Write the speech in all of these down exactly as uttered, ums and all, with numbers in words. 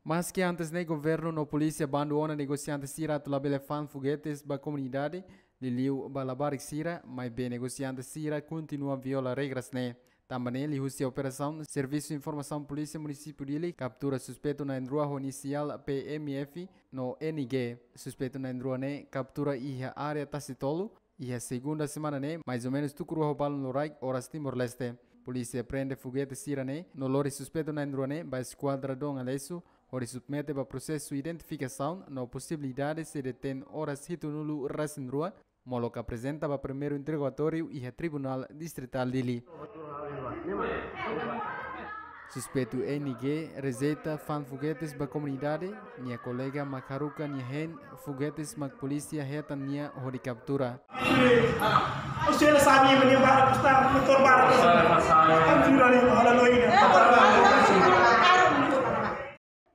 Maski antes ne'e governu no polísia bandu ona negosiante sira atu labele fa'an fogetes ba komunidade, liuliu ba labarik sira, maibé negosiante sira kontinua viola regras ne'e. Tanba ne'e liuhusi operasaun, Servisu Informasaun Polísia Munisípiu Dili kaptura suspeitu na'in-rua ho inisiál P M F no N G. Suspeitu na'in-rua ne'e kaptura iha área Tasitolu, iha segunda semana ne'e, mais ou menus tuku rua ho balun loraik oras Timor-Leste. Polísia prende fogetes sira ne'e no lori suspeitu na'in-rua ne'e ba Eskuadra Dom Aleixo, hodi submete ba prosesu identifikasaun no posibilidade sei detein oras hitunulu-resin-rua, molok aprezenta ba primeiru interrogatóriu iha Tribunál Distritál Dili. Suspeitu N G rejeita fa'an fogetes ba komunidade, nia kolega mak haruka nia hein, fogetes mak polísia hetan nia hodi kaptura.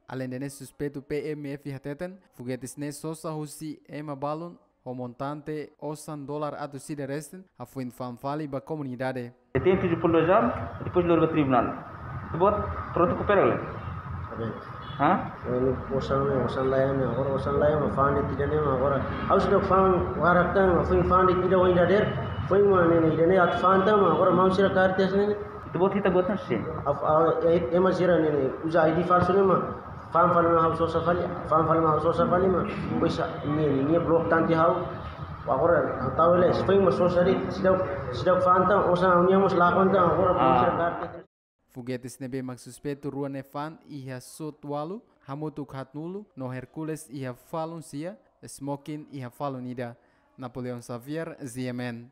Alende ne'e, suspeitu P M F hateten, fogetes ne'e sosa husi ema balun ho montante osan dolar atus ida resin, hafoin fa'an fali ba komunidade. Tem tujuh puluh dua jam, depois lori ba tribunál. Ita-boot prontu koopera ka lae? Sabe. Hah? Anu, osan ne'e, osan laiha ne'e, agora osan laiha mak fa'an de'it ida-ne'e mak agora. Ha'u seidauk fa'an barak tan, hafoin fa'an de'it ida ohin dadeer, foin mak ne'e, ida-ne'e atu fa'an tan mak agora maun sira kaer tesi ne'e. Ita-boot, ita-boot na sin. Af-, a, e, ema sira ne'e, ne'e, uza I D falsu ne'e mak fa'an fali mak ha'u sosa fali, fa'an fali mak ha'u sosa fali mak. Pois a, ne'e, ne'e, ne'e blok tan tiha ha'u. Agora, ha'u tau ele, foin mak sosa de'it, seidauk, seidauk fa'an tan, osan ha'u-nian mós lakon tan, agora maun sira kaer tesi. Fogetes ne'ebé mak suspeitu rua ne'e fa'an iha Sot Walu, hamutuk haatnulu, no Hercules iha falun sia, Smokin iha falun ida. Napoleão Xavier, Z M N.